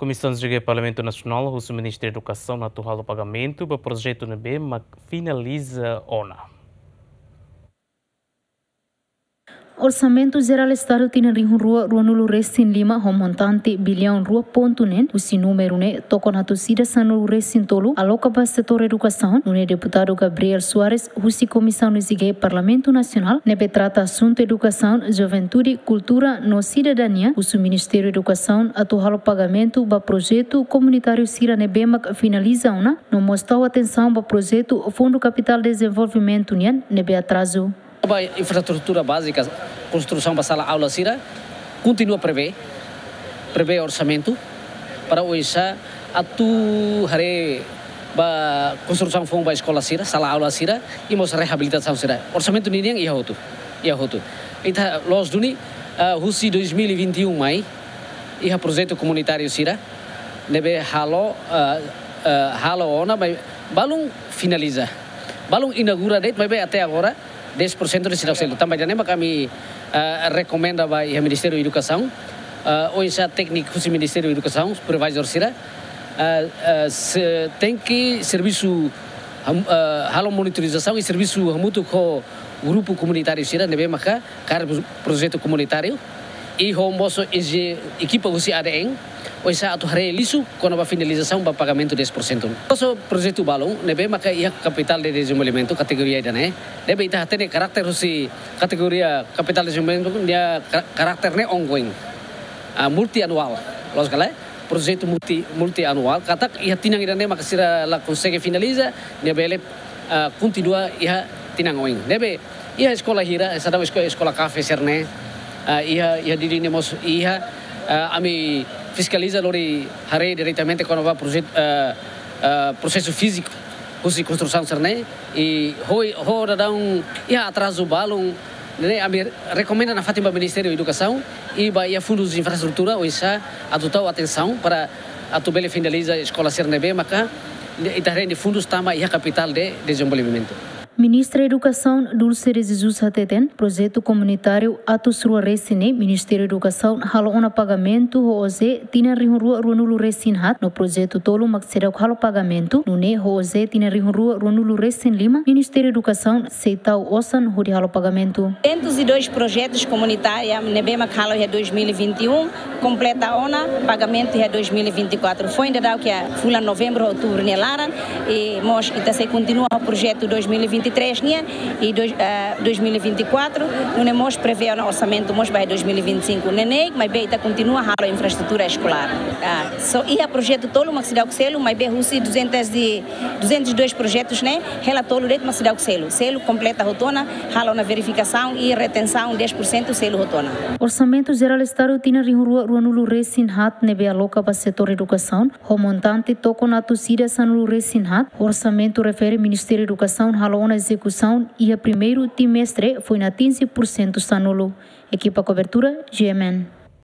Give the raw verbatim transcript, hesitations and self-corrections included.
Komisaun G Parlamentu Nasionál husu Ministériu Edukasaun atu halo pagamentu ba projetu ne'ebé mak finaliza ona. Orsamentu Jerál Estadu tinan rihun rua ruanulu resin lima ho montante biliaun rua pontu neen, husi númeru ne'e tokon atus ida sanulu resin tolu aloka ba setór edukasaun, nune'e Deputadu Gabriel Soares husi Komisaun S G Parlamentu Nasionál ne'ebé trata asuntu edukasaun, juventude, kultura no sidadania husu Ministériu Edukasaun atu halo pagamentu ba projetu komunitáriu sira ne'ebé mak finaliza ona, no mós tau atensaun ba projetu Fundu Kapitál Dezenvolvimentu nian ne'ebé atrazu. Ba infraestrutura bázika, konstrusaun ba sala aula sira, kontinua prevee, prevee orsamentu para oinsá atu haree ba konstrusaun foun ba eskola sira, sala aula sira, i mós reabilitasaun sira. Orsamentu ninian iha hotu, iha hotu. Ita loos duni, ah, husi dois mil e vinte e um mai, iha projetu komunitáriu sira ne'ebé halo, ah, ah, halo ona, maibé balun finaliza. Balun inaugura de'it, maibé até agora dez por cento ne'e seidauk selu. Tanba ida-ne'e mak ami, ah, rekomenda ba iha Ministériu Edukasaun, ah, oinsá tékniku husi Ministériu Edukasaun, supervisor sira, ah, ah, se, tenke servisu ham-, ah, halo monitorizasaun i servisu hamutuk ho grupu komunitáriu sira ne'ebé maka kaer projetu komunitáriu, i ho mós ekipa husi A D N, oinsá atu haree lisu kona-ba finalizasaun ba pagamentu dez por cento. Mós projetu balun ne'ebé maka iha kapitál de dezenvolvimentu kategoria ida-ne'e, ne'ebé ita hatene karakter husi kategoria kapitál de dezenvolvimentu, nia ka-, karakter ne'e ongoing, ah, multianuál, loos ka lae? Projetu multi, multianuál, katak iha tinan ida-ne'e maka sira la konsege finaliza, nia bele, ah, kontinua iha tinan oin. Ne'ebé iha eskola hira, seidauk esko-, eskola kafe sira-ne'e, ah, iha, iha Dili ne'e mós iha, ah, ami fiskaliza lori haree diretamente kona-ba projetu, ah, ah, prosesu fíziku husi konstrusaun sira-ne'e, i ho, ho daudaun iha atrazu balun, ne'e ami rekomenda nafatin ba Ministériu Edukasaun i ba iha Fundu Infraestrutura, oinsá atu tau atensaun para atu bele finaliza eskola sira ne'ebé maka ita haree fundus tama iha kapitál de dezenvolvimentu. Ministra Edukasaun Dulce de Jesus hateten, projetu komunitáriu atus rua resin ne'e Ministériu Edukasaun halo ona pagamentu ho OJE tinan rihun rua ruanulu resin haat, no projetu tolu mak seidauk halo pagamentu, nune'e ho OJE tinan rihun rua ruanulu resin lima, Ministériu Edukasaun sei tau osan hodi halo pagamentu. Duzentos e dois projetos comunitários ne'ebé mak halo iha dois mil e vinte e um, kompleta ona pagamentu iha dois mil e vinte e quatro. Foin daudauk iha fulan novembru, outubru nia laran, i mós ita sei kontinua ho projetu dois mil e vinte e três nian, i dois, ah, dois mil e vinte e quatro, nune'e mós prevee ona orsamentu mós ba dois mil e vinte e cinco. Ne'e ne'e, maibé ita kontinua halo infraestrutura eskolár. Ah, só iha projetu tolu mak seidauk selu, maibé husi duzentos e, duzentos e dois projetos ne'e, hela tolu de'it mak seidauk selu. Selu kompleta hotu ona, halo ona verifikasaun i retensaun dez por cento, selu hotu ona. Orsamentu Jerál Estadu tinan rihun rua ruanulu resin haat ne'ebé aloka ba setór edukasaun, ho montante tokon atus ida sanulu resin haat, orsamentu refere Ministériu Edukasaun halo ona ezekusaun iha primeiru timestre foin atinje pursentu sanulu. Ekipa kobertura, G M N.